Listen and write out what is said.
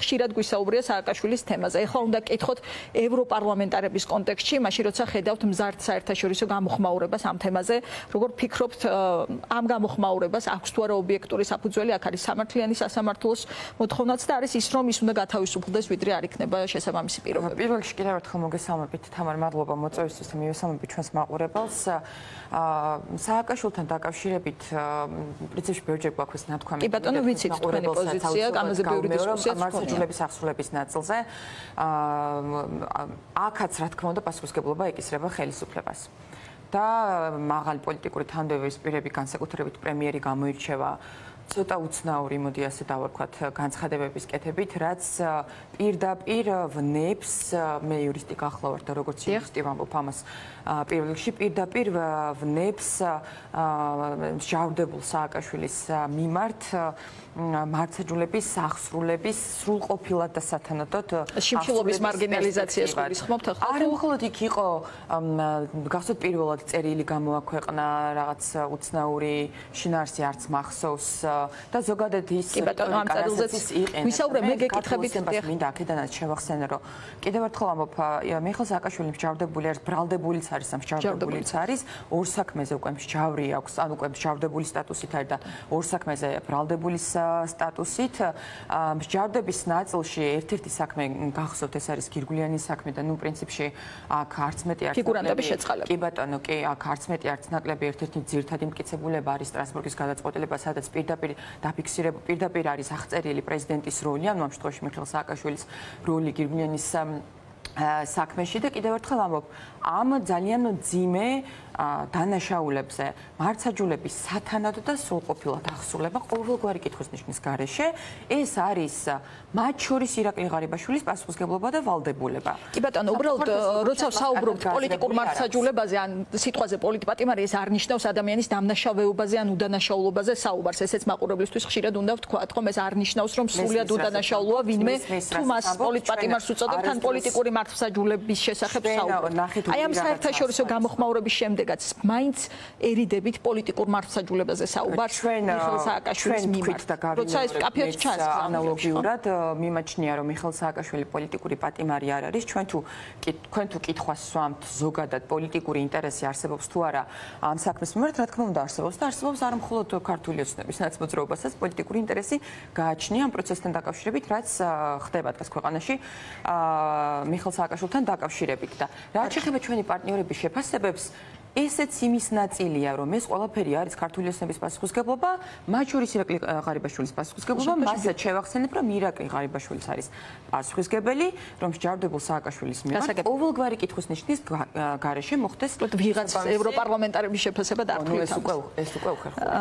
ხშირად გვისაუბრია სააკაშვილის თემაზე. ეხლა უნდა გკითხოთ ევროპარლამენტარების კონტექსტში, მაშინ როცა ხედავთ მზარდ საერთაშორისო გამოხმაურებას ამ თემაზე, როგორ ფიქრობთ ამ გამოხმაურებას აქვს თუ არა ობიექტური საფუძველი, აქ არის სამართლიანი სასამართლოს მოთხოვნაც და არის ის, რომ ის უნდა გათავისუფლდეს, ვიდრე არ იქნება შესაბამისი პირობები. პირველ რიგში კიდევ ერთხელ მოგესალმებით, თამარ, მადლობა მოწვევისთვის და მივესალმებით ჩვენს მაყურებელს. სააკაშვილთან დაკავშირებით პრინციპში ბევრჯერ გვაქვს ნათქვამი. კი ბატონო, ვიცით თქვენი პოზიცია, ამაზე ბევრი დისკუსია მართლმსაჯულების აღსრულების ნაწილზე. აქაც რა თქმა უნდა პასუხისმგებლობა ეკისრება ხელისუფლებას. და მაღალი პოლიტიკური თანამდებობის პირები, განსაკუთრებით პრემიერი გამოირჩევა ცოტა უცნაური, მოდი ასე დავარქვათ, განცხადებების კეთებით, რაც პირდაპირ ვნებს, მე იურისტი გახლავართ და როგორც იურისტი ვამბობ ამას პირველ რიგში, პირდაპირ ვნებს მსჯავრდებულ სააკაშვილის მიმართ მართლმსაჯულების აღსრულების სრულყოფილად და სათანადოდ შიმშილობის მარგინალიზაციას გულისხმობთ ახლა? არა, მხოლოდ იქ იყო გახსოვთ პირველად წერილი გამოაქვეყნა რაღაც უცნაური შინაარსი არც მახსოვს და ზოგადად ის ვისაუბრე მე გეკითხებით მინდა აქედანაც შევახსენე რომ კიდევ ერთხელ ამბობ მიხეილ სააკაშვილი მსჯავრდებული არის ბრალდებულიც არის ამ მსჯავრდებულიც არის ორ საქმეზე უკვე მსჯავრი აქვს ან უკვე მსჯავრდებული სტატუსით არის და ორ საქმეზე ბრალდებულის სტატუსით მსჯავრდების ნაწილში ერთ-ერთი საქმე გახსოვთ ეს არის გირგვლიანი საქმე და ნუ პრინციპში აქ არც მეტი არც ფიგურანტების შეწყალება კი ბატონო კი აქ არც მეტი არც ნაკლები ერთ-ერთი ძირითადი მტკიცებულება არის სტრასბურგის გადაწყვეტილება სადაც პირდაპირ არის აღწერილი პრეზიდენტის როლი, ანუ ამ შემთხვევაში მიხეილ სააკაშვილის როლი გირგვლიანის საქმეში და კიდევ ერთხელ ამბობ, ამ ძალიან მძიმე დანაშაულებზე მართლმსაჯულების სათანადო და სრულყოფილად აღსრულება ყოველგვარი კითხვის ნიშნის გარეშე, ეს არის მათ შორის ირაკლი ღარიბაშვილის პასუხისმგებლობა და ვალდებულება. კი ბატონო, უბრალოდ როცა ვსაუბრობთ პოლიტიკურ მართლმსაჯულებაზე ან სიტყვაზე პოლიტპატიმარი, ეს არ ნიშნავს ადამიანის დამნაშავეობაზე ან უდანაშაულობაზე საუბარს. ესეც მაყურებლისთვის ხშირად უნდა ვთქვათ, ხომ ეს არ ნიშნავს, რომ სრულად უდანაშაულოა ვინმე თუ მას პოლიტპატიმარს უწოდებთ ან პოლიტიკური მართლმსაჯულების შესახებ საუბრობთ. აი ამ საერთაშორისო გამოხმაურების შემდეგაც მაინც ერიდებით პოლიტიკურ მართლმსაჯულებაზე საუბარს მიხეილ სააკაშვილის მიმართ. როცა ეს კაფეში ჩანს ანალოგიურად მიმაჩნია რომ მიხეილ სააკაშვილი პოლიტიკური პატიმარი არ არის, თქვენ თუ კითხვას სვამთ ზოგადად პოლიტიკური ინტერესი არსებობს თუ არა ამ საქმის მიმართ, რა თქმა უნდა არსებობს და არსებობს არა მხოლოდ ქართული ოცნების ნაცმოძრაობასაც პოლიტიკური ინტერესი გააჩნია ამ პროცესთან დაკავშირებით, რაც ხდება დღეს ქვეყანაში მიხეილ სააკაშვილთან დაკავშირებით და რაც შეეხება ჩვენი პარტნიორების შეფასებებს ესეც იმის ნაწილია, რომ ეს ყველაფერი არის ქართული ოცნების პასუხისმგებლობა, მათ შორის ირაკლი ღარიბაშვილის პასუხისმგებლობა, მასაც შევახსენებ, რომ ირაკლი ღარიბაშვილიც არის პასუხისმგებელი, რომ მსჯავრდებულ სააკაშვილის მიმართ ყოველგვარი კითხვის ნიშნის გარეშე მოხდეს ვიღაც ევროპარლამენტარების შეფასება დართულით. ეს უკვე უხერხულია.